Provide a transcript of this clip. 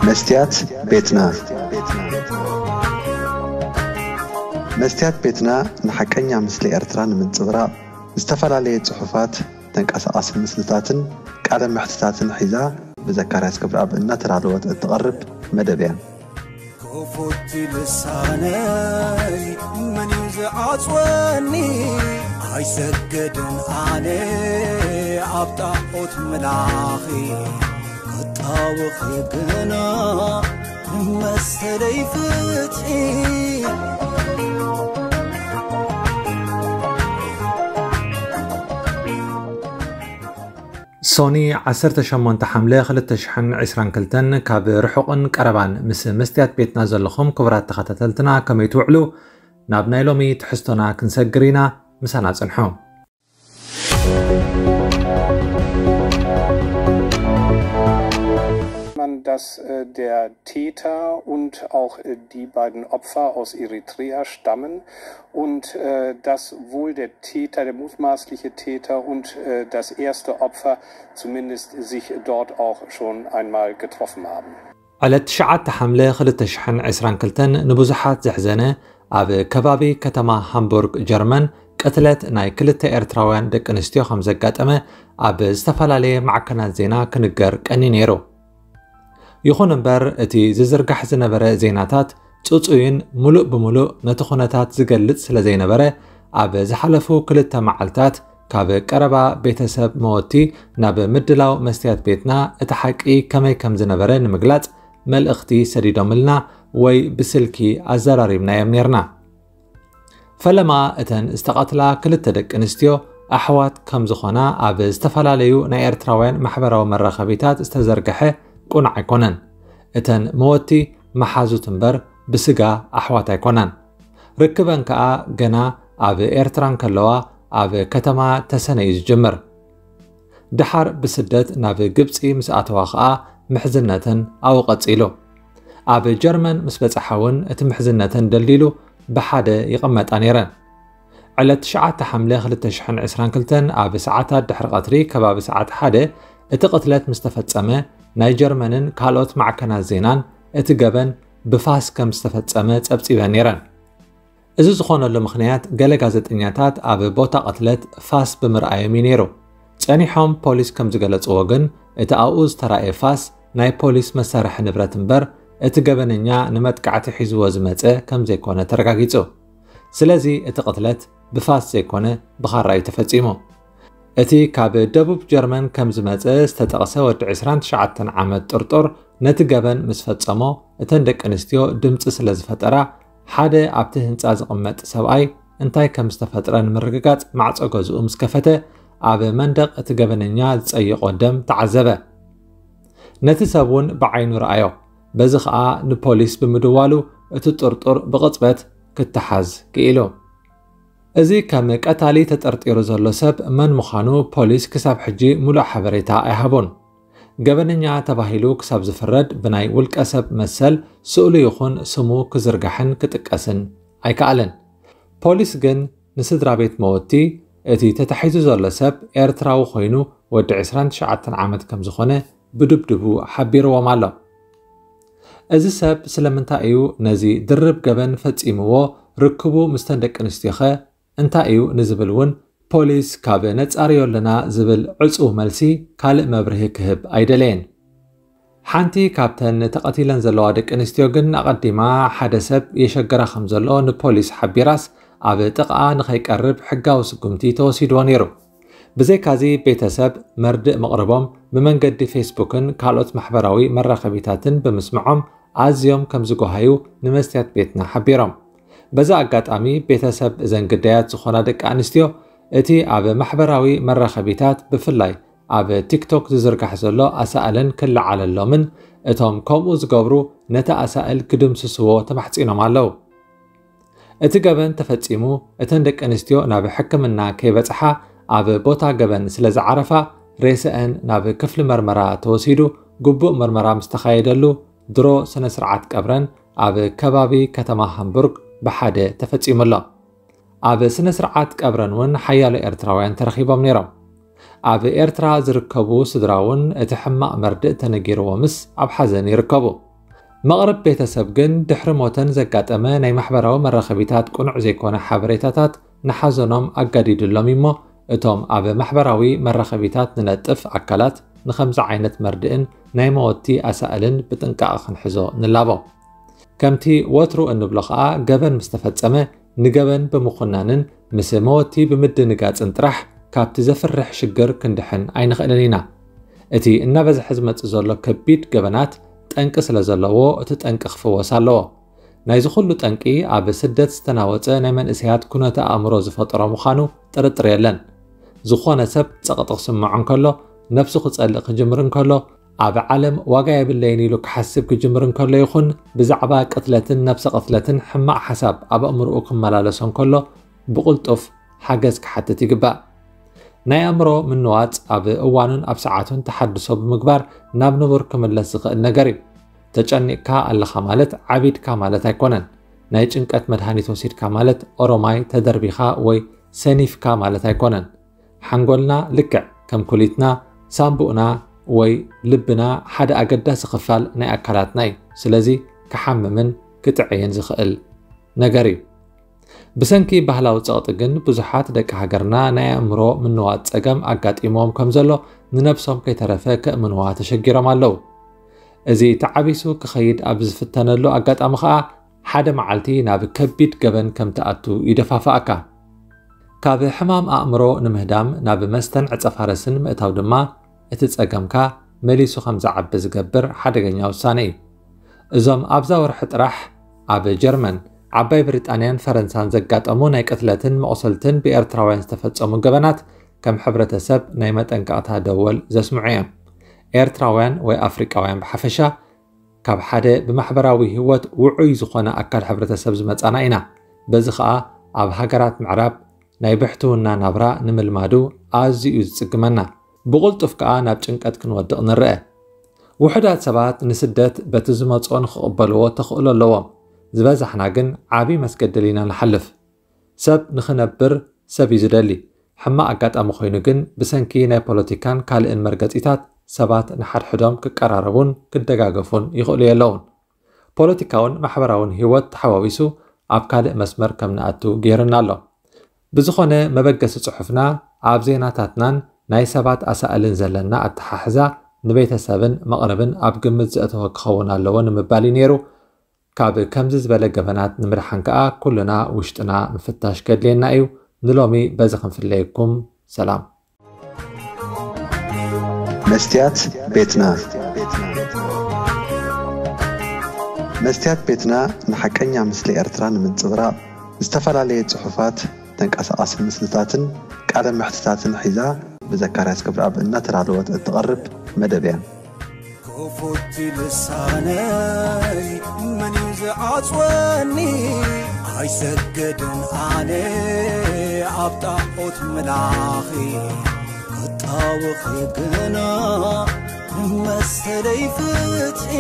መስትያት ቤትና። መስትያት ቤትና ንሓቀኛ ምስሊ ኤርትራ ንምንጽብራቕ ዝተፈላለየ ጽሑፋት፣ ተንቀሳቓሲ ምስልታትን ቃለ መሕትታትን ሒዛ ብዘካርያስ ገብረኣብ እናተዳለወት እትቐርብ መደብ እያ። ክፉት ልሳነይ መን እዩ ዝዓጽወኒ? ኣይሰግድን ኣነ ኣብ ጣዖት ምላኺ፣ ክጣወኺ ግና መሰለይ ፍትሒ። ሶኒ ዓሰርተ ሸሞንተ ሓምለ ክልተ ሽሕን ዕስራን ክልተን ካብ ርሑቕን ቀረባን ምስ መስትያት ቤትና ዘለኹም ክቡራት ተኸታተልትና ከመይ ትውዕሉ? ናብ ናይ ሎሚ ትሕዝቶና ክንሰግር ኢና፣ ምሳና ጽንሑ። Man, dass äh, der Täter und auch äh, die beiden Opfer aus Eritrea stammen und äh, dass wohl der Täter, der mutmaßliche Täter und äh, das erste Opfer zumindest sich dort auch schon einmal getroffen haben. ዕለት ትሽዓተ ሓምለ ክልተ ሽሕን ዕስራን ክልተን ንብዙሓት ዘሕዘነ ኣብ ከባቢ ከተማ ሃምቡርግ ጀርመን ቅትለት ናይ ክልተ ኤርትራውያን ደቂ ኣንስትዮ ከም ዘጋጠመ ኣብ ዝተፈላለየ ማዕከናት ዜና ክንገር ቀኒ ነይሩ። ይኹን እምበር እቲ ዝዝርጋሕ ዝነበረ ዜናታት ጽጹይን ሙሉእ ብሙሉእ ነቲ ኩነታት ዝገልጽ ስለ ዘይነበረ ኣብ ዝሓለፉ ክልተ መዓልታት ካብ ቀረባ ቤተሰብ መወቲ ናብ ምድላው መስትያት ቤትና እቲ ሓቂ ከመይ ከም ዝነበረ ንምግላጽ መልእኽቲ ሰዲዶምልና ወይ ብስልኪ ኣዘራሪብናዮም ነርና። ፈለማ እተን ዝተቐትላ ክልተ ደቂ ኣንስትዮ ኣሕዋት ከም ዝኾና ኣብ ዝተፈላለዩ ናይ ኤርትራውያን ማሕበራዊ መራኸቢታት ዝተዘርገሐ ቁኑዕ ኣይኮነን። እተን መወቲ መሓዙት እምበር ብስጋ ኣሕዋት ኣይኮናን። ርክበን ከኣ ገና ኣብ ኤርትራ እንከለዋ ኣብ ከተማ ተሰነ እዩ ዝጅምር። ደሓር ብስደት ናብ ግብጺ ምስ ኣተዋ ከኣ ምሕዝነተን ኣብኡ ቀጺሉ። ኣብ ጀርመን ምስ በጽሓ እውን እቲ ምሕዝነተን ደልዲሉ ብሓደ ይቕመጣ ነይረን። ዕለት ትሽዓተ ሓምለ ክልተ ሽሕን ዕስራን ክልተን ኣብ ሰዓታት ድሕሪ ቀትሪ ከባቢ ሰዓት ሓደ እቲ ቅትለት ምስ ተፈጸመ ናይ ጀርመንን ካልኦት ማዕከናት ዜናን እቲ ገበን ብፋስ ከም ዝተፈጸመ ጸብጺበን ነይረን። እዚ ዝኾነሉ ምኽንያት ገለ ጋዜጠኛታት ኣብ ቦታ ቅትለት ፋስ ብምርኣዮም እዩ ነይሩ። ጸኒሖም ፖሊስ ከም ዝገለጽዎ ግን እቲ ኣብኡ ዝተራእየ ፋስ ናይ ፖሊስ መሳርሒ ንብረት እምበር እቲ ገበነኛ ንመጥቃዕቲ ሒዝዎ ዝመጸ ከም ዘይኮነ ተረጋጊጹ። ስለዚ እቲ ቅትለት ብፋስ ዘይኮነ ብኻራ እዩ ተፈጺሙ። እቲ ካብ ደቡብ ጀርመን ከም ዝመጸ ዝተጠቕሰ ወዲ ዕስራን ትሽዓተን ዓመት ጥርጡር ነቲ ገበን ምስ ፈጸሞ እተን ደቂ ኣንስትዮ ድምጺ ስለ ዝፈጠራ ሓደ ኣብቲ ህንጻ ዝቕመጥ ሰብኣይ እንታይ ከም ዝተፈጥረ ንምርግጋጽ ማዕጾ ገዝኡ ምስ ከፈተ ኣብ መንደቕ እቲ ገበነኛ ዝጸይቖ ደም ተዓዘበ። ነቲ ሰብ እውን ብዓይኑ ረኣዮ። በዚ ኸኣ ንፖሊስ ብምድዋሉ እቲ ጥርጡር ብቕጽበት ክተሓዝ ክኢሉ። እዚ ከም ቀታሊ ተጠርጢሩ ዘሎ ሰብ መን ምዃኑ ፖሊስ ክሳብ ሕጂ ሙሉእ ሓበሬታ ኣይሃቡን። ገበነኛ ተባሂሉ ክሳብ ዝፍረድ ብናይ ውልቀ ሰብ መሰል ስእሉ ይኹን ስሙ ክዝርጋሕን ክጥቀስን ኣይከኣለን። ፖሊስ ግን ንስድራ ቤት መወቲ እቲ ተታሒዙ ዘሎ ሰብ ኤርትራዊ ኮይኑ ወዲ ዕስራን ትሽዓተን ዓመት ከም ዝኾነ ብድብድቡ ሓቢርዎም ኣሎ። እዚ ሰብ ስለምንታይ እዩ ነዚ ድርብ ገበን ፈጺምዎ? ርክቡ ምስተን ደቂ ኣንስትዮኸ እንታይ እዩ ንዝብል እውን ፖሊስ ካብ ነጻርዮ ኣለና ዝብል ዕጹው መልሲ ካልእ መብርሂ ክህብ ኣይደለየን። ሓንቲ ካብተን ተቐቲለን ዘለዋ ደቂ ኣንስትዮ ግን ኣቐዲማ ሓደ ሰብ የሸግራ ከም ዘሎ ንፖሊስ ሓቢራስ ኣብ ጥቕኣ ንኸይቀርብ ሕጋዊ ስጉምቲ ተወሲድዎ ነይሩ። ብዘይካዚ ቤተሰብ መርድእ ምቕርቦም ብመንገዲ ፌስቡክን ካልኦት ማሕበራዊ መራኸቢታትን ብምስምዖም ኣዝዮም ከም ዝጎሃዩ ንመስትያት ቤትና ሓቢሮም። በዚ ኣጋጣሚ ቤተሰብ እዘን ግዳያት ዝኾና ደቂ ኣንስትዮ እቲ ኣብ ማሕበራዊ መራኸቢታት ብፍላይ ኣብ ቲክቶክ ዝዝርጋሕ ዘሎ ኣሳእለን ክለዓለሎምን እቶም ከምኡ ዝገብሩ ነቲ ኣሳእል ክድምስስዎ ተማሕጺኖም ኣለዉ። እቲ ገበን ተፈጺሙ እተን ደቂ ኣንስትዮ ናብ ሕክምና ከይበጽሓ ኣብ ቦታ ገበን ስለ ዝዓረፋ ሬሰአን ናብ ክፍሊ መርመራ ተወሲዱ ግቡእ መርመራ ምስ ተኻየደሉ ድሮ ስነ ስርዓት ቀብረን ኣብ ከባቢ ከተማ ሃምቡርግ ብሓደ ተፈጺሙ ኣሎ። ኣብ ስነ ስርዓት ቀብረን እውን ሓያሎ ኤርትራውያን ተረኺቦም ነይሮም። ኣብ ኤርትራ ዝርከቡ ስድራ እውን እቲ ሕማቕ መርድእ ተነጊርዎምስ ኣብ ሓዘን ይርከቡ። መቕርብ ቤተሰብ ግን ድሕሪ ሞተን ዘጋጠመ ናይ ማሕበራዊ መራኸቢታት ቅኑዕ ዘይኮነ ሓበሬታታት ንሓዘኖም ኣጋዲዱሎም እሞ፣ እቶም ኣብ ማሕበራዊ መራኸቢታት ንነጥፍ ኣካላት ንኸምዚ ዓይነት መርድእን ናይ መወቲ ኣሳእልን ብጥንቃቐ ክንሕዞ ንላቦ። ከምቲ ወትሩ እንብሎ ኸኣ፣ ገበን ምስ ተፈጸመ ንገበን ብምኹናንን ምስ መወቲ ብምድንጋጽን ጥራሕ ካብቲ ዘፍርሕ ሽግር ክንድሕን ኣይንኽእልን ኢና። እቲ እናበዝሐ ዝመጽእ ዘሎ ከቢድ ገበናት ጠንቂ ስለ ዘለዎ፣ እቲ ጠንቂ ክፍወስ ኣለዎ። ናይዚ ኩሉ ጠንቂ ኣብ ስደት ዝተናወጸ ናይ መንእሰያት ኩነተ ኣእምሮ ዝፈጠሮ ምዃኑ ጥርጥር የለን። ዝኾነ ሰብ ጸቕጢ ክስምዖ እንከሎ፣ ነብሱ ክጸልእ ክጅምር እንከሎ፣ ኣብ ዓለም ዋጋ የብለይን ኢሉ ክሓስብ ክጅምር እንከሎ ይኹን፣ ብዛዕባ ቅትለትን ነብሰ ቅትለትን ሕማቕ ሓሳብ ኣብ ኣእምሮኡ ክመላለሶ እንከሎ፣ ብቕልጡፍ ሓገዝ ክሓትት ይግባእ። ናይ ኣእምሮ ምንዋጽ ኣብ እዋኑን ኣብ ሰዓቱን ተሓድሶ ብምግባር ናብ ንቡር ክምለስ ዝኽእል ነገር እዩ። ተጨኒቕካ ኣለኻ ማለት ዓቢድካ ማለት ኣይኮነን። ናይ ጭንቀት መድሃኒት ወሲድካ ማለት ኦሮማይ ተደርቢኻ ወይ ሰኒፍካ ማለት ኣይኮነን። ሓንጎልና ልክዕ ከም ኩሊትና፣ ሳምቡእና ወይ ልብና ሓደ ኣገዳሲ ክፋል ናይ ኣካላትና እዩ። ስለዚ ክሓምምን ክጥዕይን ዝኽእል ነገር እዩ። ብሰንኪ ባህላዊ ጸቕጢ ግን ብዙሓት ደቂ ሃገርና ናይ ኣእምሮ ምንዋጽ ጸገም ኣጋጢሞም ከም ዘሎ ንነብሶም ከይተረፈ ከእምንዋ ተሸጊሮም ኣለዉ። እዚ ተዓቢሱ ክኸይድ ኣብ ዝፍተነሉ ኣጋጣሚ ኸኣ ሓደ መዓልቲ ናብ ከቢድ ገበን ከም ትኣቱ ይደፋፍኣካ። ካብ ሕማም ኣእምሮ ንምህዳም ናብ መስተን ዕጸፋረስን ምእታው ድማ እቲ ጸገምካ መሊሱ ከም ዝዓቢ ዝገብር ሓደገኛ ውሳነ እዩ። እዞም ኣብዛ ወርሒ ጥራሕ ኣብ ጀርመን፣ ዓባይ ብሪጣንያን ፈረንሳን ዘጋጠሙ ናይ ቅትለትን መቑሰልትን ብኤርትራውያን ዝተፈጸሙ ገበናት ከም ሕብረተሰብ ናይ መጠንቀቕታ ደወል ዘስምዑ እዮም። ኤርትራውያን ወይ ኣፍሪቃውያን ብሓፈሻ ካብ ሓደ ብማሕበራዊ ህይወት ውዑይ ዝኾነ ኣካል ሕብረተሰብ ዝመጻና ኢና። በዚ ኸኣ ኣብ ሃገራት ምዕራብ ናይ ብሕትውና ናብራ ንምልማዱ ኣዝዩ እዩ ዝጽግመና። ብቕልጡፍ ከኣ ናብ ጭንቀት ክንወድቕ ንርአ። ውሑዳት ሰባት ንስደት በቲ ዝመጽኦ ንኽቕበልዎ ተኽእሎ ኣለዎም። ዝበዛሕና ግን ዓቢ መስገደል ኢና ንሓልፍ። ሰብ ንኽነብር ሰብ እዩ ዝደሊ። ሕማቕ ኣጋጣሚ ኮይኑ ግን ብሰንኪ ናይ ፖለቲካን ካልእን መርገጺታት ሰባት ንሓድሕዶም ክቀራረቡን ክደጋገፉን ይኽእሉ የለውን። ፖለቲካውን ማሕበራውን ህይወት ተሓዋዊሱ ኣብ ካልእ መስመር ከም ንኣቱ ገይሩና ኣሎ። ብዝኾነ መበገሲ ጽሑፍና ኣብ ዜናታትናን ናይ ሰባት ኣሳእልን ዘለና ኣተሓሕዛ ንቤተሰብን መቕርብን ኣብ ግምት ዘእተወ ክኸውን ኣለዎ ንምባል እዩ ነይሩ። ካብ ከምዚ ዝበለ ገበናት ንምድሓን ከኣ ኩልና ውሽጥና ምፍታሽ ከድልየና እዩ። ንሎሚ በዚ ክንፍለየኩም። ሰላም። መስትያት ቤትና። መስትያት ቤትና ንሓቀኛ ምስሊ ኤርትራ ንምንጽብራቕ ዝተፈላለየ ጽሑፋት፣ ተንቀሳቓሲ ምስልታትን ቃለ መሕትታትን ሒዛ ብዘካርያስ ገብረኣብ እናተዳለወት እትቐርብ መደብ እያ። ክፉት ልሳነይ መን እዩ ዝዓጽወኒ? ኣይሰግድን ኣነ ኣብ ጣዖት ምላኺ ክጣወኺ ግና ንመሰለይ ፍትሒ